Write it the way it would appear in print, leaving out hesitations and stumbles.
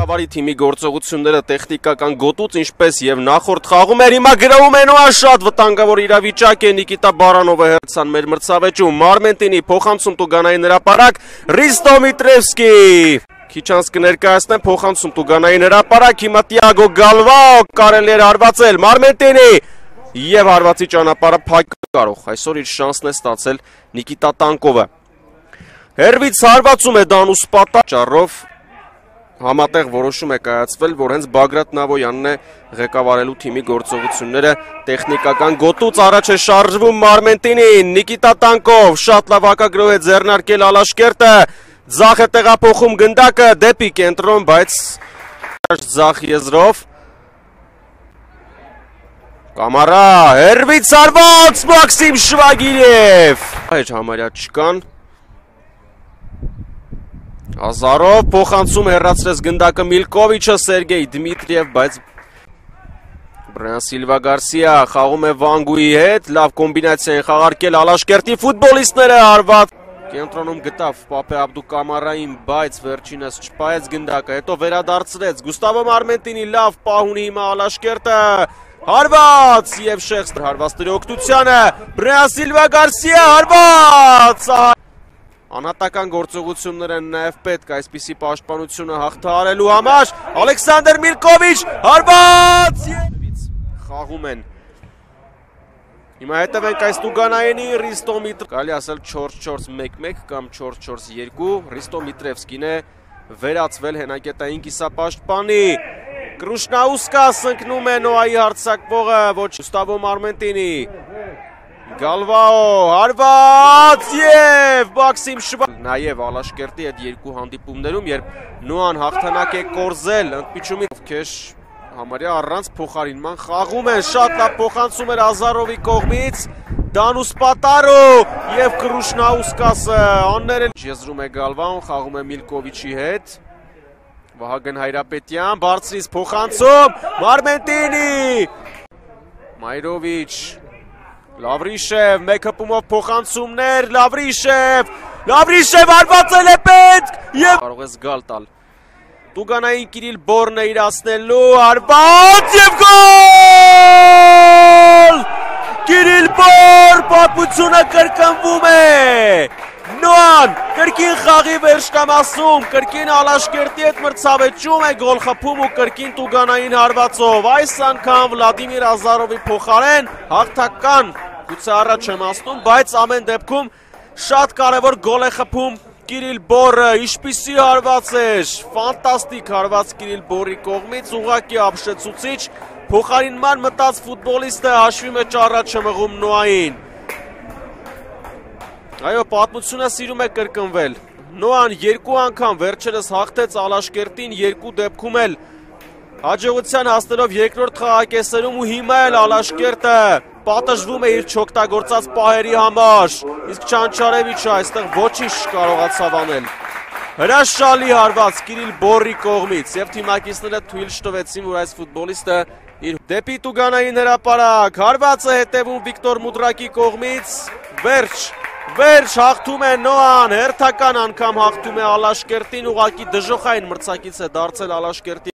Ղեկավարի թիմի գործողությունները տեխնիկական գոտուց ինչպես եւ նախորդ խաղում էր հիմա գրաում են ու շատ վտանգավոր իրավիճակ է Նիկիտա Բարանովը հերցան մեր մրցավեճում Մարմենտինի փոխանցում Տուգանային հրապարակ Ռիստո Միտրևսկի Քիչ անց կներկայացնեմ փոխանցում Տուգանային հրապարակ հիմա Տիագո Գալվաո կարելի էր հարվածել Մարմենտինի եւ հարվածի ճանապարհը փակ կարող այսօր իր շանսն է ստացել Նիկիտա Տանկովը Հերվից հարվածում է Դանուս Պատաճառով Համատեղ որոշում է կայացվել, որ հենց Բագրատ Նավոյանն է ղեկավարելու թիմի գործողությունները տեխնիկական գոտուց առաջ է շարժվում Մարմենտինին, Նիկիտա Տանկով, շատ լավ հակագրով է ձեռնարկել Ալաշկերտը, ձախ է տեղափոխում գնդակը, դեպի կենտրոն, բայց ձախ եզրով Կամարա, հերվից հարված Մաքսիմ Շվագիրև, այր համարյա չկան Ազարով փոխանցում հեռացրեց գնդակը Միլկովիչը Սերգեյ Դմիտրիև, բայց Բրյան Սիլվա Գարսիա խաղում է Վանգուի հետ, լավ կոմբինացիա են խաղարկել Ալաշկերտի ֆուտբոլիստները հարված Կենտրոնում գտավ Պապե Աբդու Կամարային, բայց վերջինս չպայեց գնդակը, հետո վերադարձրեց Գուստավո Մարմենտինի լավ պահ ունի հիմա Ալաշկերտը Հարված եւ Շեխս հարվածների օգնությանը Բրյան Սիլվա Գարսիա հարված Անհատական գործողություններ են նաև պետք այսպիսի պաշտպանությունը հաղթահարելու համար Ալեքսանդր Միլկովիչ հարված խաղում են Հիմա հետևենք այս Տուգանայինի Ռիստո Միտրևսկի կարելի ասել 4-4-1-1 կամ 4-4-2 Ռիստո Միտրևսկին է վերացվել հենակետային կիսապաշտպանի Կրուշնաուսկաս ընկնում է Նոայի հարձակվողը ոչ Գուստավո Մարմենտինի Գալվաո, հարված և Մաքսիմ Շվագիրև Նաև Ալաշկերտի այդ երկու հանդիպումներում, երբ Նոան հաղթանակ է կորզել ընդմիջումի Քեշ համարյա առանց փոխարինման խաղում են, շատ լավ փոխանցում էր Ազարովի կողմից Դանուս Պատարո և Կրուշնաուսկասը աններել Եզրում է Գալվաոն, խաղում է Միլկովիչի հետ Վահագն Հայրապետյան, բարձրից փոխանցում, Մարմենտինի Մայրովիչ Լավրիշև, մեկ հպումով փոխանցումներ, Լավրիշև արվածել է պետք և կարող է զգալ տալ Տուգանային Կիրիլ Բորն է իրացնելու, արված և գոլ Կիրիլ Բոր, պատմությունը կրկնվում է Նոան, կրկին խաղի վերջնամասում, կրկին Ալաշկերտի հետ մրցավեճում է գոլ խփում ու կրկին Տուգանային հարվածով Այս անգամ Վլադիմիր Ազարովի փոխարեն հաղթական գուցե առաջ եմ ասնում, բայց ամեն դեպքում շատ կարևոր գոլ է խփում Կիրիլ Բորը, ինչպիսի հարված էր, ֆանտաստիկ հարված Կիրիլ Բորի կողմից, ուղղակի ապշեցուցիչ, փոխարինման մտած ֆուտբոլիստը հաշվի մեջ առաջ է մղում Նոային Այո, պատմությունը սիրում է կրկնվել Նոան երկու անգամ վերջերս հաղթեց Ալաշկերտին, երկու դեպքում էլ հաջողության հասնելով երկրորդ խաղակեսերում ու հիմա էլ Ալաշկերտը պատժվում է իր չօգտագործած պահերի համար Իսկ Չանչարևիչը այստեղ ոչինչ կարողացավ անել Հրաշալի հարված Կիրիլ Բորի կողմից և թիմակիցները թույլ չտվեցին, որ այս ֆուտբոլիստը իր դեպի Տուգանային հրապարակ հարվածը հետևում Վիկտոր Մուդրակի կողմից Վերջ հաղթում է Նոան, հերթական անգամ հաղթում է Ալաշկերտին, ուղղակի դժոխային մրցակից է դարձել Ալաշկերտի